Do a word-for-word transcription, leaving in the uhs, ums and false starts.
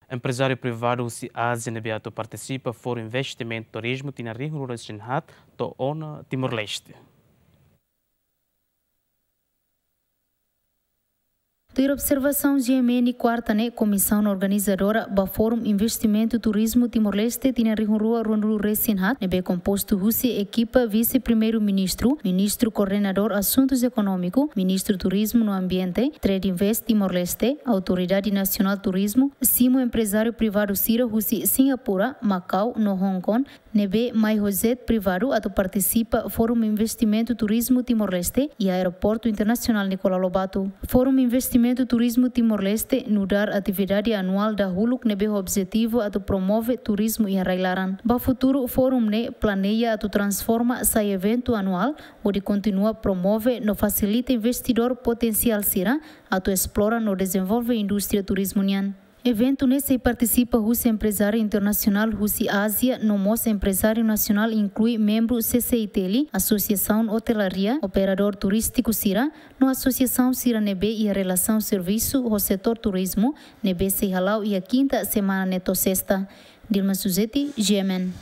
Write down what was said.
Emprezáriu privadu husi Ázia ne'ebé atu partisipa Fórum Investimentu Turizmu tinan rihun rua resin haat to'o ona Timor-Leste. Tuir observasaun G M N, kuarta ne'e komisaun organizadora ba Fórum Investimentu Turizmu Timor-Leste tinan rihun rua ruanulu resin haat ne'ebé kompostu husi ekipa Vise-Primeiru-Ministru, Ministru Koordenadór Asuntus Ekonómiku, Ministru Turizmu no Ambiente, Trade Invest Timor-Leste, Autoridade Nasionál Turizmu, simu emprezáriu privadu sira husi Singapura, Makau no Hong Kong, ne'ebé mai ho jet privadu atu partisipa Fórum Investimentu Turizmu Timor-Leste iha Aeroportu Internasionál Nicolau Lobato. Fórum Investimentu Turizmu Timor-Leste nu'udar atividade anuál dahuluk ne'ebé ho objetivu atu promove turizmu iha rai-laran. Ba futuru, fórum ne'e planeia atu transforma sai eventu anuál, hodi kontinua promove no fasilita investidór potensiál sira atu esplora no dezenvolve indústria turizmu nian. Eventu ne'e sei partisipa husi emprezáriu internasionál husi Ázia, no mós emprezáriu nasionál, inklui membru C C I T L, Asosiasaun Otelaria, operadór turístiku sira, no asosiasaun sira ne'ebé iha relasaun servisu ho setór turizmu, ne'ebé sei hala'o iha kinta semana ne'e to'o sesta. Dilma Suzeti, G M N.